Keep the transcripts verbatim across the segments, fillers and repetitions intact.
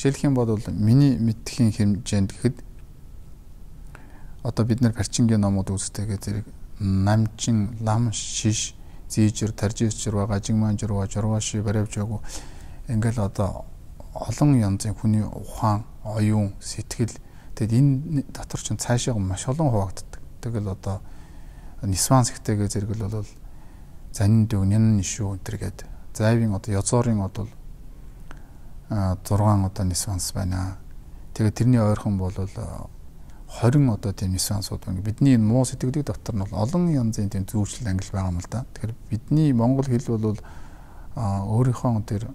Жишээлх юм бол миний мэдхийн хэмжээнд гэхэд одоо бид нар Парчингийн номууд үзтэйгээ зэрэг намчин, лам, шиш, зийжэр, таржисчэр байгаа, жигманжрва, журваши, баревжаагүй ингээл одоо олон янзын хүний ухаан, оюун, сэтгэл тэгэд энэ дотор ч цаашаа маш олон хуваагддаг. Тэгэл одоо нисвансхтэйгээ зэрэг л бол занин дүгнэн шүү энтергээд зайвын одоо язорын одоо зургаан одоо нисванс байна. Тэгээд тэрний ойрхон бол двадцать одоо тийм нисвансууд байна. Бидний энэ муу сэтгэлийг дотор нь олон янзын тийм зүйрлэл ангил байгаа юм л да. Тэгэхээр бидний монгол хэл бол өөрийнхөө тэр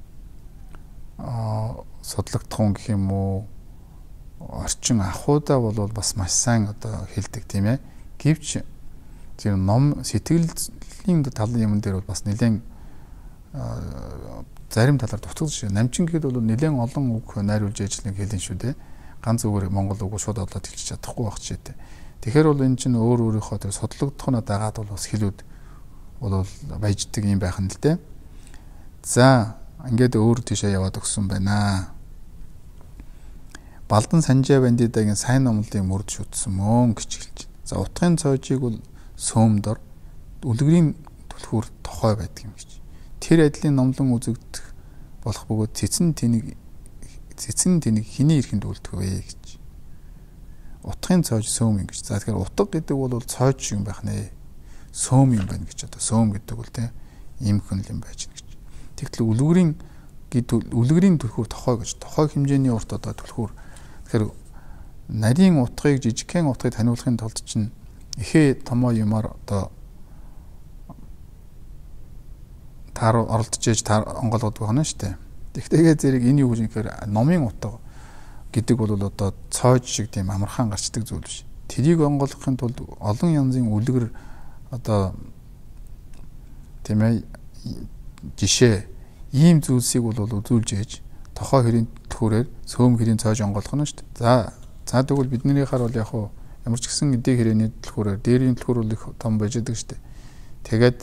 судлагдах гэх юм уу орчин ахуйдаа бол бас маш сайн одоо хэлдэг тийм ээ. Гэвч тэр ном сэтгэлийн талын юм дээр бол бас нэлээд зарим талаар дутагдсан шүү. Намчин гэхэд бол нэлээд олон үг найруулж ажиллах хэлэн шүү дээ. Ганц үгээр монгол үг шууд олоод хэлчих чадахгүй байх ч гэдэг. Тэгэхээр бол энэ чинь өөр өөрийнхөө тэр судлагдахнаа дагаад бол бас хэлүүд бол баяждаг юм байх нь л дээ. За ингээд өөр тийшээ яваад өгсөн байна. Балдан Санжаа Бандидагийн сайн номлын мөрд шүтсэн мөн гэж хэлж байна. За утгын цоожийг бол сөөмдор үлгэрийн түлхүүр тохой байдаг юм гэж. Тэр адилын номлон үзэгдэх болох бөгөөд цэцэн тэнийг цэцэн тэнийг хиний ирэхэнд үлдэх вэ гэж. Утгын цоож сөөм юм гэж. За тэгэхээр утга гэдэг бол цоож юм байх нэ. Сөөм юм байна гэж одоо сөөм гэдэг бол тийм ийм хүн юм байж гэж. Тэгтэл үлгэрийн гэдэг үлгэрийн түлхүүр тохой гэж. Тохой хэмжээний урт одоо түлхүүр. Тэгэхээр нарийн утгыг жижигхэн утгыг таниулахын тулд чинь ихээ томоо юмар одоо таар оролдож ээж онгоолгод байна шүү дээ. Тэгтээгээ зэрэг энэ юу гэж нэхэр номын утга гэдэг бол одоо цоож шиг тийм амархан гарчдаг зүйл биш. Тэрийг онгоолгохын тулд олон янзын үлгэр одоо тийм ээ жишээ ийм зүйлсийг бол үзүүлж ээж тохоо хэрийн түлхүүрээр сөөм хэрийн цоож онгоолгох нь шүү дээ. За за тэгвэл биднийхаар бол яг хуу ямар ч гэсэн эдийн хэрээний түлхүүрээр дээрийн түлхүүр бол их том байж байгаа шүү дээ. Тэгээд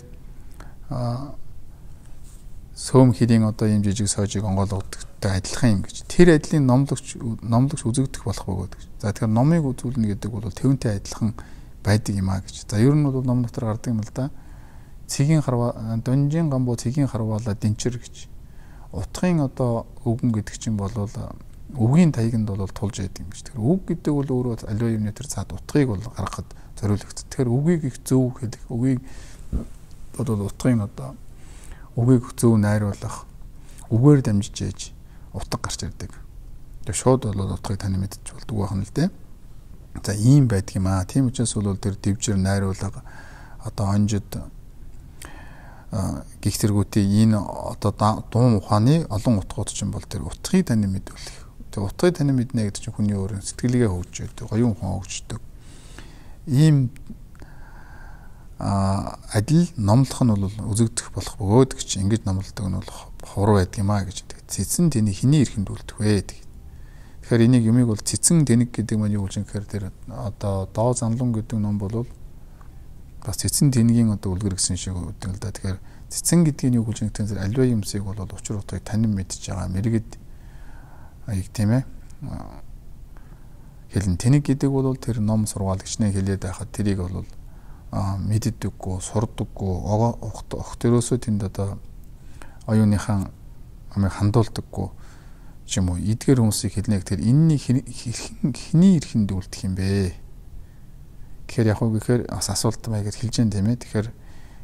сөөм хэрийн одоо ийм жижиг соожийг онгоолгодогтой адилхан юм гэж. Тэр адилын номлогч номлогч үзэгдэх болох бөгөөд гэж. За тэгэхээр номыг үзүүлнэ гэдэг бол тэвнтэй адилхан байдаг юм а гэж. За ер нь бол ном дотор гардаг юм л да. Цэгийн харва донжийн гамбуу цэгийн харваалаа дэнчэр гэж. Утгын одоо үгэн гэдэг чинь бол үгийн таяганд бол тулж яадаг юм гэж. Тэгэхээр үг гэдэг бол өөрөө аливаа юмны тэр цаад утгыг бол гаргахад зориулагдсан. Тэгэхээр үгийг их зөв хэлэх, үгийг бол утгын одоо үгийг зөв найруулах, үгээр дамжиж ээж утга гарч ирдэг. Тэгээ шууд бол утгыг тань мэдчих болдог байх нь л дээ. За ийм байдаг юм аа. Тийм учраас бол тэр дэвжир найруулга одоо онжид гих зэргүүтийн энэ одоо дуун ухааны олон утгууд чинь бол тэр утгыг тань мэдүүлэх. Тэгээ утгыг тань мэднэ гэдэг чинь хүний өөрийн сэтгэлгээ хөгжөөд, гоён ухаан хөгждөг. Ийм а адил номлох нь бол үзэгдэх болох бөгөөд гэж ингэж номлодог нь бол ховор байдаг юм а гэж. Цэцэн тэнийг хиний ирэхэнд үлдэх вэ гэдэг. Тэгэхээр энийг юмыг бол цэцэн тэнэг гэдэг маань юу гэж нэхэр тэр одоо доо замлан гэдэг ном бол бас цэцэн тэнгийн одоо үлгэр гэсэн шиг үүдэг л да. Тэгэхээр цэцэн гэдгийг юу гэж нэхэр аливаа юмсыг бол учир утгыг танин мэдж байгаа мэрэгд аяг тийм ээ. Хэлэн тэнэг гэдэг бол тэр ном сургаал гिचнээ хэлээд байхад тэрийг бол мэддэггүй, сурдаггүй, огт төрөөсөө тэнд одоо оюуныхан амыг хандуулдаггүй юм уу. Эдгээр хүмүүсийг хэлнэ гэхээр энэний хиний ирэхэнд үлдэх юм бэ. Тэгэхээр яг уу гэхээр бас асуулт байгаад хэлж дээ тийм ээ. Тэгэхээр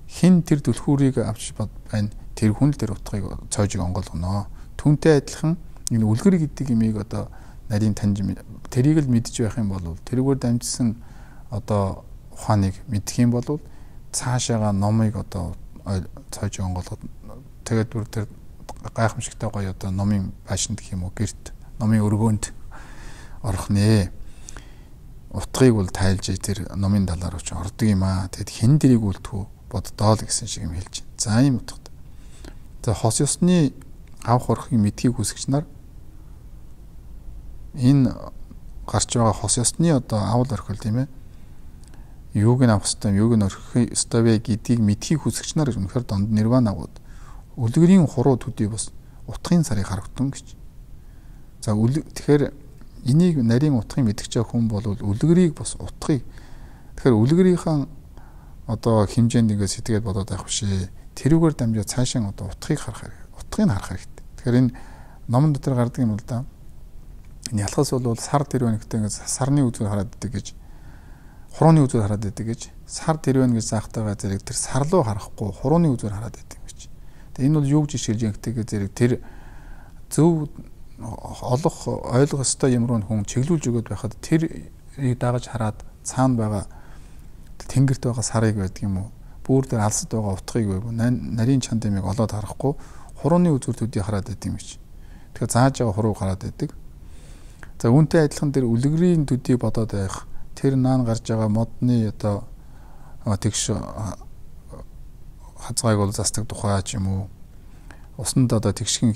хин тэр түлхүүрийг авч байна. Тэр хүн л тэр утгыг цоожиг онгоолгоно. Түүнтэй адилхан энэ үлгэр гэдэг имийг одоо нарийн таньж тэрийг л мэдж байх юм бол тэрүүгээр дамжсан одоо ухааныг мэдэх юм бол цаашаага номыг одоо цоожиг онгоолгоод тэгээд бүр тэр гайхамшигтай гоё одоо номын байшинд гэх юм уу гэрт номын өргөөнд орох нэ. Утгыг бол тайлж тэр номын далаар очиж ордог юм аа. Тэгэд хэн дэрийг үлдэхүү боддоо л гэсэн шиг юм хэлж байна. За ийм утгатай. За хос ёсны авах орохын мэдхийг хүсэгч нар энэ гарч байгаа хос ёсны одоо авал орхил тийм ээ. Юуг нь авах ёстой, юуг нь орхих ёстой вэ гэдгийг мэдхийг хүсэгч нар үнэхээр донд нирванагууд үлгэрийн хуруу төдий бас утгын сарыг харагдсан гэж. За тэгэхээр энийг нарийн утгыг мэдгэж байгаа хүн бол үлгэрийг бас утгыг тэгэхээр үлгэрийнхэн одоо хэмжээнд ингээд сэтгэгээд бодоод байх бишээ. Тэрүүгээр дамжаад цаашаа одоо утгыг харах хэрэгтэй. Утгыг харах хэрэгтэй. Тэгэхээр энэ номон дотор гардаг юм л да. Энэ ялхас бол сар тэрвэн гэдэг ингээд сарны үзүүр хараад идэг гэж, хурууны үзүүр хараад идэг гэж, сар тэрвэн гэж заахтайгаа зэрэг тэр сар руу харахгүй хурууны үзүүр хараад идэг гэж. Тэгээ энэ бол юу гэж жишээлж ингэдэг зэрэг тэр зөв олох ойлгох ёстой юм руу хүн чиглүүлж өгöd байхад тэрийг дагаж хараад цаана байгаа тэнгэрт байгаа сарыг байдаг юм уу? Бүүр дээр алсад байгаа утгыг байв. Нарийн чанд ямиг олоод харахгүй хурууны үзүүр төдий хараад байд юм гэж. Тэгэхээр зааж байгаа хурууг хараад байдаг. За үүнтэй адилхан дээр үлгэрийн төдийг бодоод байх. Тэр наан гарч байгаа модны одоо тэгш хазгааг бол застдаг тухай ч юм уу? Усанд одоо тэгшгийн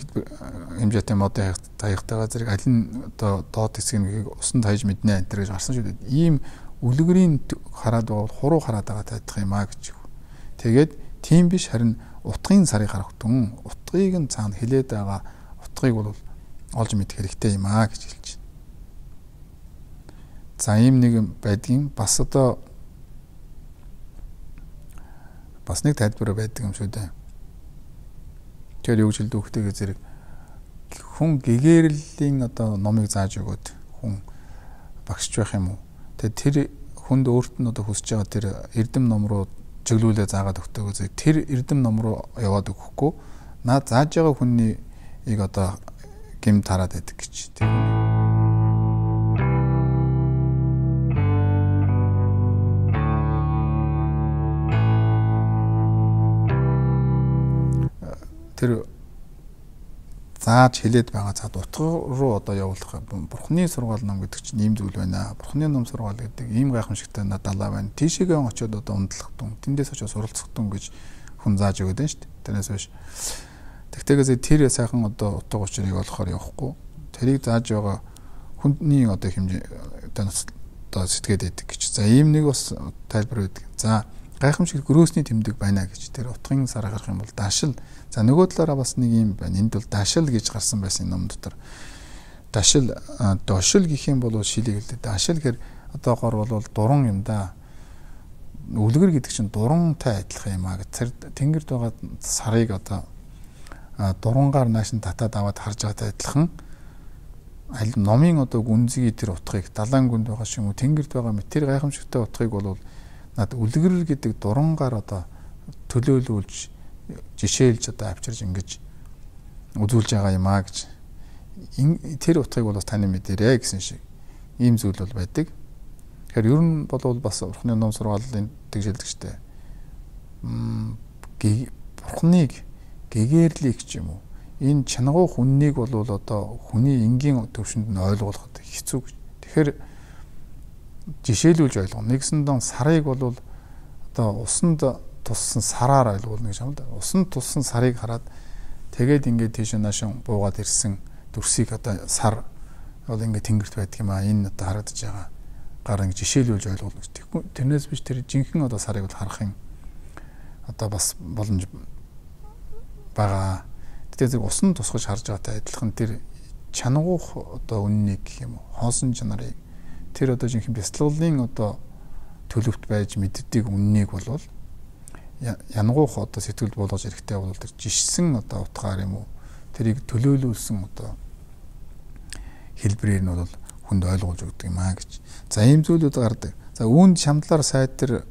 хэмжээтэй модын хаягтайгаа зэрэг аль нь одоо доод хэсгийг усанд хаяж мэднэ энэ гэж гарсан шүү дээ. Ийм үлгэрийн хараад байгаа хуруу хараад байгаа тайлах юм а гэж. Тэгээд тийм биш харин утгын сарыг харах түн утгыг нь цаана хилээд байгаа утгыг бол олж мэдэх хэрэгтэй юм а гэж хэлж байна. За ийм нэг байдгийн бас одоо бас нэг тайлбар байдаг юм шүү дээ. Тэр юу гэж хэлдэг хөхтэйгээ зэрэг хүн гэгэрлийн одоо номыг зааж өгөөд хүн багшч байх юм уу? Тэгээд тэр хүнд өөрт нь одоо хүсэж байгаа тэр эрдэм ном руу чиглүүлээ заагаад өгтөөгөө зэрэг тэр эрдэм ном руу яваад өгөхгүй наа зааж байгаа хүнийг одоо гэмт хараад байдаг гэж. Тэр тэр зааж хилээд байгаа цаад утга руу одоо явуулах бурхны сургаал ном гэдэг чинь ийм зүйл байна. Бурхны ном сургаал гэдэг ийм гайхамшигтай далаа байна. Тийшээгээ очиод одоо унтлах тун тэндээс очиод суралцах тун гэж хүн зааж өгöd нь шүү дээ. Тэрнээс биш. Тэгтээгээ тэр сайхан одоо утга учирыг олохоор явахгүй. Тэрийг зааж байгаа хүнний одоо хэмжээ одоо сэтгэхэд байдаг гэж. За ийм нэг бас тайлбар байдаг. За гайхамшиг гөрөөсний тэмдэг байна гэж тэр утгын сар гарах юм бол дашил. За нөгөө талаараа бас нэг юм байна. Энд бол дашил гэж гарсан байсан ном дотор. Дашил дошил гэх юм бол шилийг хэлдэг. Дашил гэхээр одоогоор бол дуран юм да. Үлгэр гэдэг чинь дурантай адилхан юм аа. Тэр тэнгэрд байгаа сарыг одоо дурангаар нааш нь татаад аваад харж байгаатай адилхан аль номын одоо гүнзгий тэр утгыг далайн гүнд байгаа шиг юм. Тэнгэрд байгаа мэт тэр гайхамшигтай утгыг бол над үлгэр гэдэг дурангаар одоо төлөөлүүлж жишээлж одоо авчирж ингэж үзүүлж байгаа юм а гэж. Тэр утгыг бол бас таны мэдэрээ гэсэн шиг ийм зүйл бол байдаг. Тэгэхээр ер нь бол бас бурхны ном сургаалын тэгжэлдэг штэ. М бурхныг гэгээрлийг ч юм уу. Энэ чанагуу хүннийг бол одоо хүний энгийн төвшөнд нь ойлгуулахад хэцүү гэж. Тэгэхээр жишээлүүлж ойлгоно. Нэгсэндээ сарыг бол одоо усанд туссан сараар ойлгуулна гэж юм да. Усанд туссан сарыг хараад тэгээд ингээд тийш наашин буугаад ирсэн дүрсийг одоо сар бол ингээд тэнгэрт байдаг юм а. Энэ одоо харагдаж байгаа гар ингээд жишээлүүлж ойлгуулна гэж. Тэрнээс биш тэр жинхэнэ одоо сарыг бол харах юм одоо бас боломж байгаа. Тэгээд зэрэг усан тусгаж харж байгаатай адилхан тэр чанагуух одоо үннийг гэх юм уу хоосон чанарыг тэр одоо жинхэнэ бяцлаглалын одоо төлөвт байж мэддэг үннийг бол янгуух одоо сэтгэлд болгож ирэхтэй бол тэр жишсэн одоо утгаар юм уу тэрийг төлөөлүүлсэн одоо хэлбэрээр нь бол хүнд ойлгуулж өгдөг юм аа гэж. За ийм зүйлүүд гардаг. За үүнд шамдлаар сайдэр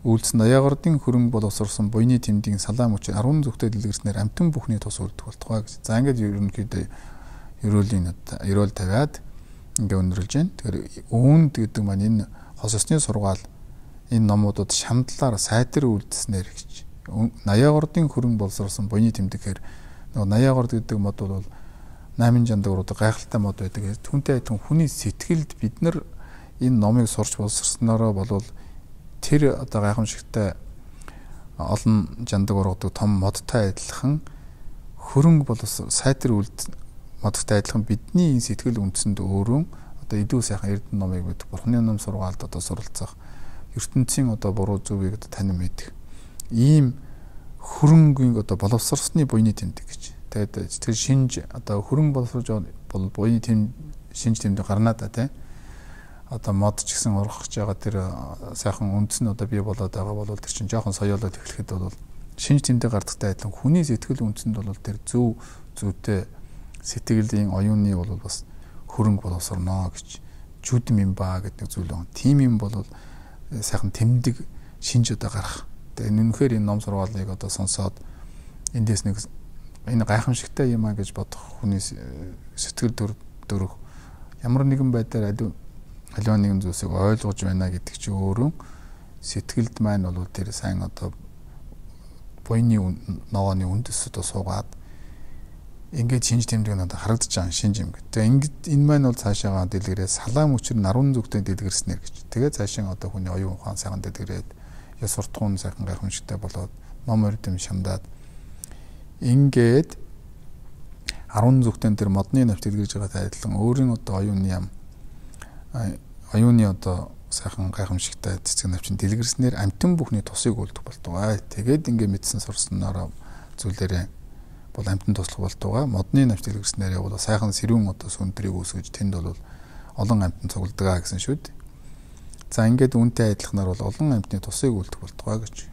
үйлдсэн Аяагордын хөрөнгө боловсруулсан буйны тэмдгийн салаам хүч арван зүгтээ дэлгэрснээр амтэн бүхний тус үлдэх болтугай гэж. За ингээд ерөнхийдөө ерөөлийн ерөөл тавиад ингээд өндөрлж байна. Тэгэхээр үүнд гэдэг маань энэ хос ёсны сургаал энэ номуудад шамдлаар сайдэр үйлдснээр гэж. Аяагордын хөрөнгө боловсруулсан буйны тэмдгээр нөгөө Аяагорд гэдэг мод бол найман жандагрууд гайхалтай мод байдаг. Түүнтэй адилхан хүний сэтгэлд бид нар энэ номыг сурч боловсрсноороо болвол тэр одоо гайхамшигтай олон жандаг ургадаг том модтой адилхан хөрөнгө боловсрол сайдэр үйлд модтой адилхан бидний энэ сэтгэл үндсэнд өөрөө одоо идүү сайхан эрдэнэ номыг бид бурхны ном сургаалд одоо суралцах ертөнцийн одоо буруу зүгийг одоо танин мэдэх ийм хөрөнгөний одоо боловсрсны буйны тэмдэг гэж. Тэгээд тэр шинж одоо хөрөнгө боловсруулж бол буяны тэм шинж тэмдэг гарнаа да тий. Одоо мод ч гэсэн ургахж байгаа тэр сайхан үндэс нь одоо бий болоод байгаа бол тэр чинь жоохон соёолоод эхлэхэд бол шинж тэмдэг гардагтай адилхан хүний сэтгэл үндэсэнд бол тэр зөв зүйтэй сэтгэлийн оюуны бол бас хөрөнгө боловсрно гэж жүдм юм ба гэдэг зүйл байна. Тим юм бол сайхан тэмдэг шинж одоо гарах. Тэгээд үнэхээр энэ ном сургаалыг одоо сонсоод эндээс нэг энэ гайхамшигтай юм а гэж бодох хүний сэтгэл төрөх ямар нэгэн байдлаар аливаа нэгэн зүйлсийг ойлгож байна гэдэг чи өөрөө сэтгэлд маань бол тэр сайн одоо буйны ногооны үндэс одоо суугаад ингээд шинж тэмдэг нь одоо харагдаж байгаа шинж юм гэдэг. Тэгээ ингээд энэ маань бол цаашаага дэлгэрээ салаам өчр нарийн зүгтээ дэлгэрснээр гэж. Тэгээ цаашаа одоо хүний оюун ухаан сайхан дэлгэрээд ёс суртахуун сайхан гайхамшигтай болоод ном өрдөм шамдаад ингээд арван зүгтэн тэр модны навч дэлгэрж байгаатай адилхан өөрийн одоо оюуны юм оюуны одоо сайхан гайхамшигтай цэцэг навчин дэлгэрснээр амтэн бүхний тусыг үлдэх болтугай. Тэгээд ингээд мэдсэн сурснараа зүйлээрээ бол амтэн туслах болтугай. Модны навч дэлгэрснээр бол сайхан сэрүүн одоо сүндрийг үүсгэж тэнд бол олон амтэн цугладаг гэсэн шүү дээ. За ингээд үнтэй адилханаар бол олон амтны тусыг үлдэх болтугай гэж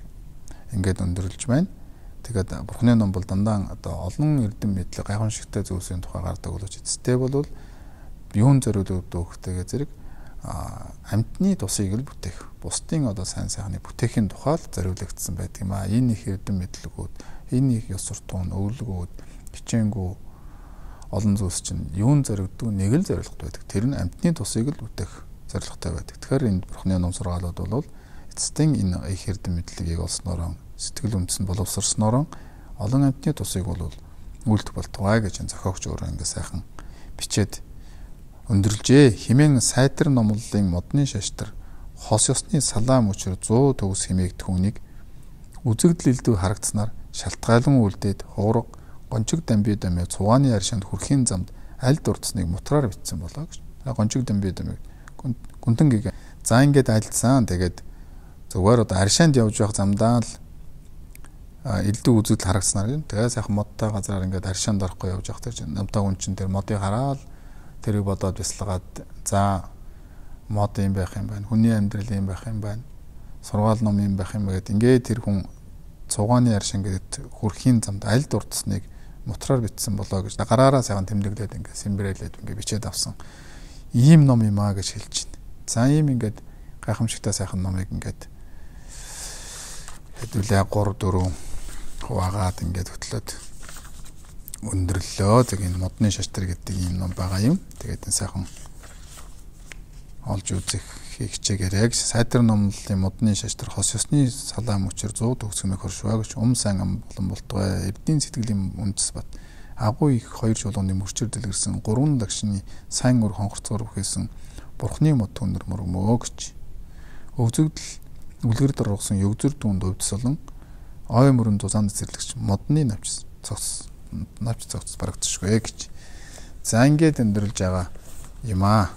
ингээд өндөрлөж байна. Тэгээд Бурхны ном бол дандаа одоо олон эрдэм мэдлэг гайхамшигтай зүйлсийн тухай гардаг боловч эцэстээ бол юун зориулдаг дөхтэйгээ зэрэг амтны тусыг л бүтээх. Бусдын одоо сайн сайхны бүтээхийн тухай л зориулагдсан байдаг юм а. Энэ их эрдэм мэдлэгүүд, энэ их ёс суртахуун, өвлгүүд, хичээнгүү олон зүйлс чинь юун зориулдаг нэг л зорилготой байдаг. Тэр нь амтны тусыг л бүтээх зорилготой байдаг. Тэгэхээр энэ Бурхны ном сургаалууд бол эцэстэн энэ их эрдэм мэдлэгийг олсноор сэтгэл үндэс нь боловсрсноор олон амтны тусыг бол үлдэх болтугай гэж зохиогч өөрөө ингэ сайхан бичээд өндөрлжээ. Химэн сайтар номлолын модны шаштар хос ёсны салаам өчр зүү төгс химээг түүнийг үзэгдэл илдүү харагдсанаар шалтгаалan үлдээд хуурга гончиг дамби дамыг цугааны аршинд хүрхийн замд аль дурдсныг мутраар бичсэн болоо гэж. Гончиг дамби дамыг гүнтэн гээ. За ингээд альцсан. Тэгээд зүгээр одоо аршинд явж байх замдаа л элдв үзэгдэл харагдсанаар юм. Тэгээ сайхан модтой газараар ингээд аршинд орохгүй явж явах тэр намтаа хүн чинь тэр модыг хараад тэрийг бодоод бясалгаад за мод юм байх юм байна. Хүний амьдрал юм байх юм байна. Сургаал ном юм байх юм гэдэг. Ингээд тэр хүн цугааны аршин гэдэг хүрхийн замд аль дурдсныг мутраар бичсэн болоо гэж гараараа сайхан тэмдэглээд ингээд симбрэлээд ингээд бичээд авсан. Ийм ном юм аа гэж хэлж байна. За ийм ингээд гайхамшигтай сайхан номыг ингээд хэдүүлээ гур дөрөв хуваагаад ингээд хөтлөөд өндөрлөө. Тэг энэ модны шаштар гэдэг ийм ном байгаа юм. Тэгээд энэ сайхан олж үзэх хичээгээрэй гэж. Сайтар номлолын модны шаштар хос ёсны салаам өчр зүү төгсгмийг хоршваа гэж ум сайн ам болон болтугай эрдийн сэтгэлийн үндэс бат агуу их хоёр чулууны мөрчөр дэлгэрсэн гурван лагшны сайн өр хонхорцоор бүхээсэн Бурхны мод түнэр мөргмөө гэж. Өвзөгдөл үлгэр дургасан өвзөр түнд өвдсөлөн ой мөрөн зузаан зэрлэгч модны навч цогц навч цогц барагдчихгүй гэж. За ингээд өндөрлж байгаа юм аа.